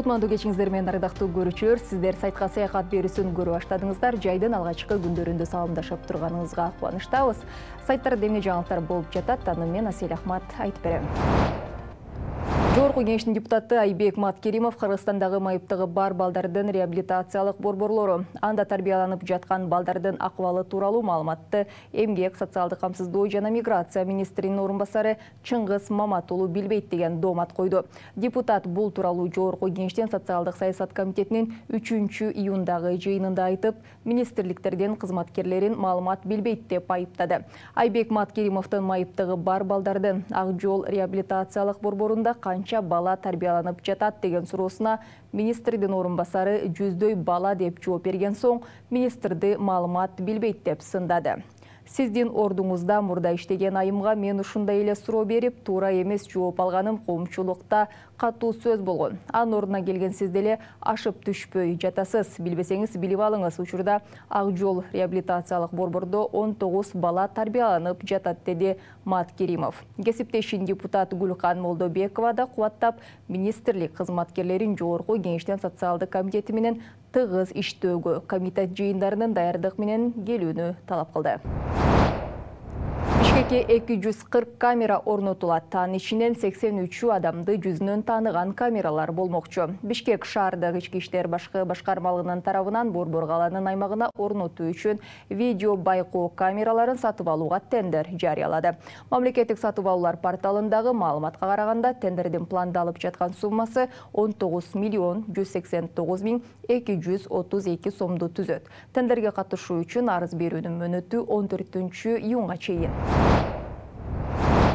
Кутмандуу кечиңиздер менен ардактуу көрүүчүлөр, сиздер сайтка саякат берүүсүн көрүп баштадыңыздар. Жайдын алгачкы күндөрүндө саламдашып турганыңызга кубанычтабыз. Сайттарда эмне жаңылыктар болуп жатат, аны мен Асель Ахмат айтып берем. Жогорку Кеңештин депутаты Айбек Маткеримов Кыргызстандагы майыптыгы бар балдардын реабилитациялык борборлору, анда тарбияланып жаткан балдардын акыбалы тууралуу маалыматты Эмгек, социалдык камсыздоо жана миграция министринин орун басары Чыңгыз Маматуулу билбейт деген доомат койду. Депутат бул тууралуу Жогорку Кеңештин социалдык саясат комитетинин 3-июндагы жыйынында айтып, министрликтердин кызматкерлерин маалымат билбейт деп айыптады. Айбек Маткеримовдун майыптыгы бар балдардын Ак Жол реабилитациялык борборунда канча бала тарбияланып жатат деген суроосуна министрдин орун басары жүздөй бала деп жооп берген соң, министрди маалымат билбейт деп сындады. Сиздин ордуңузда мурда иштеген айымга мен ушундай эле суроо берип, туура эмес жооп алганым коомчулукта катуу сөз болгон. Анын ордуна келген сиз деле ашып түшпөй жатасыз. Билбесеңиз билип алыңыз. Учурда Ак Жол реабилитациялык борбордо 19 бала тарбияланып жатат, деди Маткеримов. Кесиптешин депутат Гүлкан Молдобекова да кубаттап, министрлик кызматкерлерин Жогорку Кеңештин социалдык комитети менен тыгыз иштөөгө, комитет жыйындарынын даярдык менен келүүнү талап кылды. Бишкекке 240 камера орнотулат. Анын ичинен 83 адамды жүзүнөн тааныган камералар болмокчу. Бишкек шаардык ички иштер башкармалыгынын тарабынан Борбор калаанын аймагына орнотуу үчүн видео байкоо камераларын сатып алууга тендер жарыялады. Мамлекеттик сатып алуулар порталындагы маалыматка караганда, тендердин пландалып жаткан суммасы 19,189,232 сомду түзөт. Тендерге катышуу үчүн арыз берүүнүн мөөнөтү 14-июнга чейин.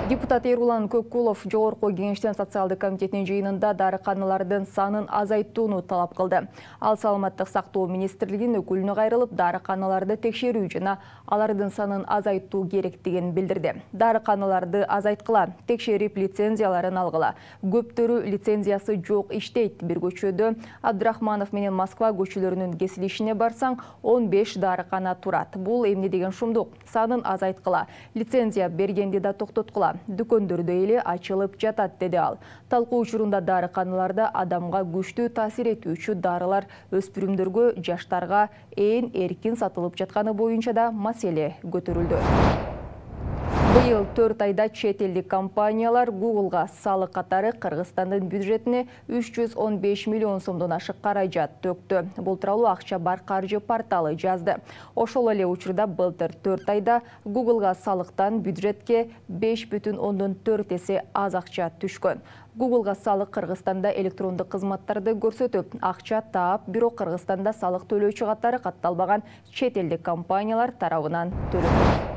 Депутат Эрулан Көккулов Жогорку Кеңештин социалдык комитетинин жыйынында дарыканалардын санын азайтууну талап кылды. Ал саламаттык сактоо министрлигинин өкүлүнө кайрылып, дарыканаларды текшерүү жана алардын санын азайтуу керектигин билдирди. Дарыканаларды азайткыла, текшерип лицензияларын алгыла. Көптөрү лицензиясы жок иштейт. Бир көчөдө Абдрахманов менен Москва көчөлөрүнүн кесилишине барсаң, 15 дарыкана турат. Бул эмне деген шумдук? Санын азайткыла, лицензия бергенди да токтоткула. Дүкөндөрдө эле ачылып жатат, деди ал. Талкуу учурунда дарыканаларда адамга күчтүү таасир этүүчү дарылар өспүрүмдөргө, жаштарга ээн эркин сатылып жатканы боюнча да маселе көтөрүлдү. Быйыл 4 айда чет элдик компаниялар Google'га салык катары Кыргызстандын бюджетине 315 миллион сомдон ашык каражат төктү. Бул тууралуу Акча бар каржы порталы жазды. Ошол эле учурда былтыр 4 айда Google'га салыктан бюджетке 5,4 эсе аз акча түшкөн. Google'га салык Кыргызстанда электрондук кызматтарды көрсөтүп, акча таап, бирок Кыргызстанда салык төлөөчү катары катталбаган чет элдик компаниялар тарабынан төлөнөт.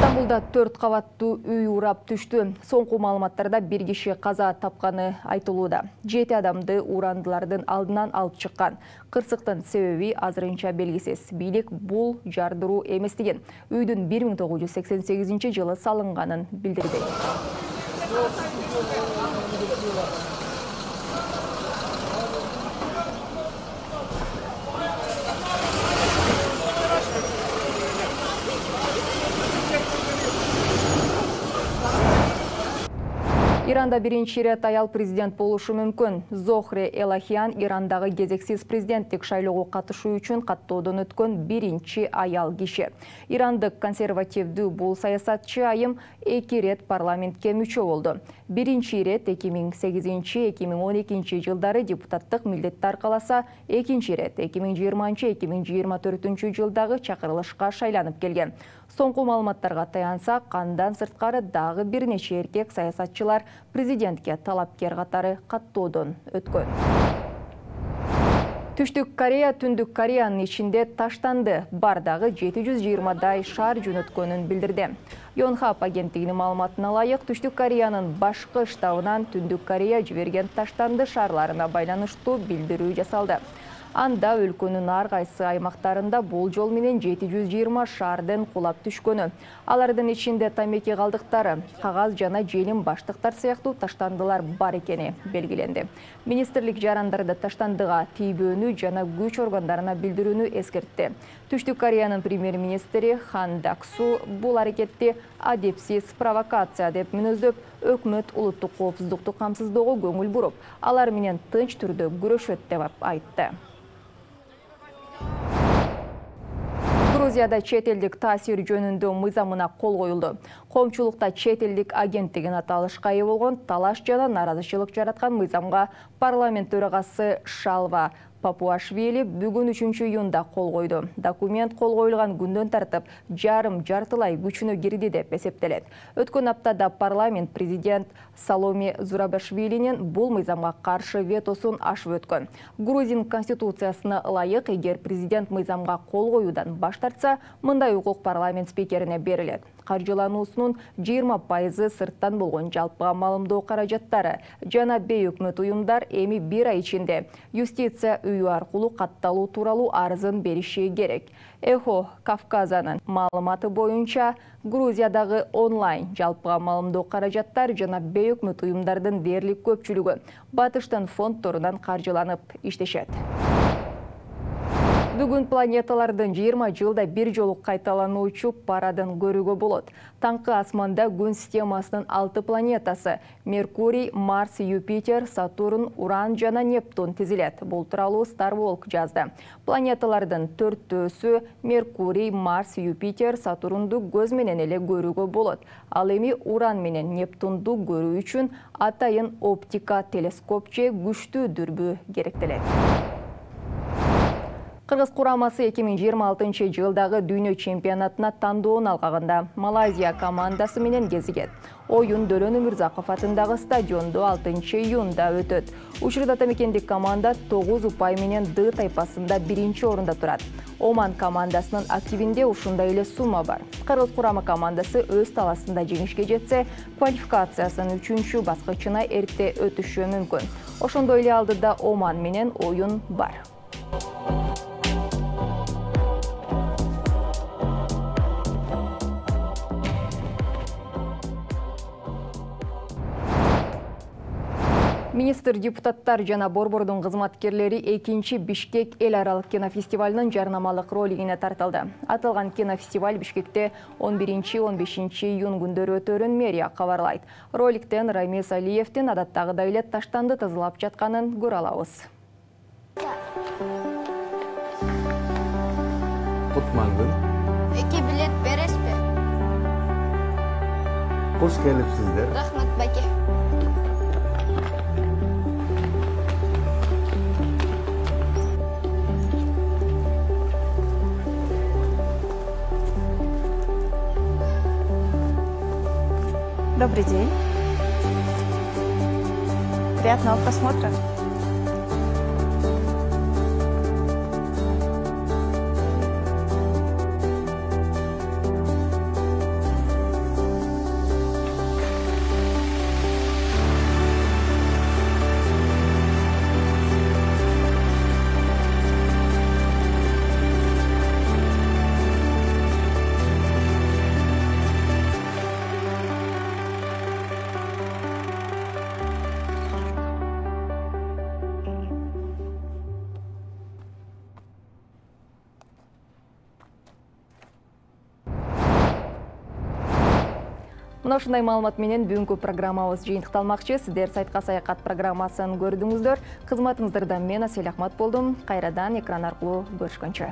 Стамбулда 4 кабаттуу үй урап түштү. Соңку маалыматтарда бир киши каза тапканы айтылууда. 7 адамды урандылардын алдынан алып чыккан. Кырсыктын себеби азырынча белгисиз. Бийлик бул жардыруу эмес деген. Үйдүн 1988 салынганын билдирди. Иранда биринчи ирет аял президент болушу мүмкүн. Зохре Элахиан Ирандагы кезексиз президенттик шайлоого катышуу үчүн каттоодон өткөн биринчи аял киши. Ирандык консервативдүү бул саясатчы айым 2 ирет парламентке мүчө болду. Биринчи ирет 2008-2012 жылдары депутаттык милдетти аркаласа, экинчи ирет 2020-2024 жылдагы чакырылышка шайланып келген. Соңку маалыматтарга таянсак, андан сырткары дагы бир нече эркек саясатчылар президентке талапкер катары каттоодон өткөн. Түштүк Корея Түндүк Кореянын ичинде таштанды. Бардагы 720дай шаар жөнөткөнүн билдирди. Yonhap агенттигинин маалыматына ылайык, Түштүк Кореянын башкы штабынан Түндүк Корея жиберген таштанды шаарларына байланыштуу билдирүү жасалды. Анда өлкөнүн ар кайсы аймактарында бул жол менен 720 шаардын кулап түшкөнү. Алардын ичинде тамеки калдыктары, кагаз жана желим баштыктар сыяктуу таштандылар бар экени белгиленди. Министрлик жарандарды таштандыга тийбөөнү жана күч органдарына билдирүүнү эскертти. Түштүк Кореянын премьер-министри Хан Дак-су бул аракетти адепсиз провокация деп мүнөздөп, өкмөт улуттук коопсуздукту камсыздоого көңүл буруп, алар менен тынч түрдө күрөшөт деп айтты. Грузияда чет элдик таасир жөнүндө мыйзамына кол коюлду. Коомчулукта чет элдик агент деген аталышка ээ болгон талаш жана нааразычылык жараткан мыйзамга парламент төрагасы Шалва Папуашвили бүгүн 3-июнда кол койду. Документ кол коюлган күндөн тартып жартылай күчүнө кирди деп эсептелет. Өткөн аптада парламент президент Саломе Зурабашвилинин бул мыйзамга каршы ветосун ашып өткөн. Грузин конституциясына ылайык, эгер президент мыйзамга кол коюудан баш тартса, мындай укук парламент спикерине берилет. Каржылануусунун 20% сырттан болгон жалпыга маалымдоо каражаттары жана бейөкмөт уюмдар эми 1 ай ичинде юстиция үйү аркылуу катталуу тууралуу арызын бериши керек. Эхо Кавказанын маалыматы боюнча, Грузиядагы онлайн жалпыга маалымдоо каражаттар жана бейөкмөт уюмдардын дээрлик көпчүлүгү батыштын фонддорунан каржыланып иштешет. Бүгүн планеталардын 20 жылда бир жолу кайталануучу парадын көрүүгө болот. Таңкы асманда күн системасынын 6 планетасы — Меркурий, Марс, Юпитер, Сатурн, Уран жана Нептун тизилет. Бул тууралуу Starwalk жазды. Планеталардын 4-төөсү — Меркурий, Марс, Юпитер, Сатурнду көз менен эле көрүүгө болот. Ал эми Уран менен Нептунду көрүү үчүн атайын оптика телескоп же күчтүү дүрбү керектелет. Кыргыз курамасы 2026 жылдагы дүйнө чемпионатына тандоон алгагында Малайзия командасы менен кезигет. Оюн Дөлөн Өмүрзаков атындагы стадиондо 6-июнда өтөт. Учурда Атамекендик команда 9 упай менен Д тайпасында 1-орунда турат. Оман командасынын активинде ушундай эле сумма бар. Кыргыз курама командасы өз таласында жеңишке жетсе, квалификациясынын 3-чү баскычына эрте өтүшү мүмкүн. Ошондой эле алдыда Оман менен оюн бар. Министр, депутаттар жана борбордун кызматкерлери 2-чи Бишкек эл аралык кинофестивалынын жарнамалык ролигине тартылды. Аталган кинофестиваль Бишкекте 11-15 июнь күндөрү өтөрүн мэрия кабарлайт. Роликтен Рамис Алиевдин адаттагыдай эле таштанды тазалап жатканын көрө алабыз. Кутмандын. 2 билет бересизби? Кош келипсиздер. Рахмат баке. Добрый день. Приятного просмотра. Мына ушундай маалымат менен бүгүнкү программабыз жыйынтыкталмакчы. Сиздер сайтка саякат программасын көрдүңүздөр. Кызматыңыздарда мен Асель Ахмат болдум. Кайрадан экран аркылуу көрүшкөнчө.